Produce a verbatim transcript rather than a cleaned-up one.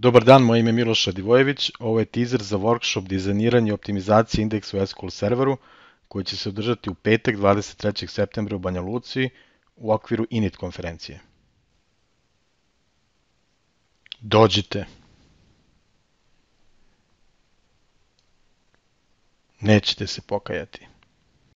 Dobar dan, moje ime je Miloš Radivojević, ovo je teaser za workshop dizajniranje i optimizacije indeksa u S Q L serveru koji će se održati u petak dvadeset trećeg septembra u Banja Luci u okviru init konferencije. Dođite. Nećete se pokajati.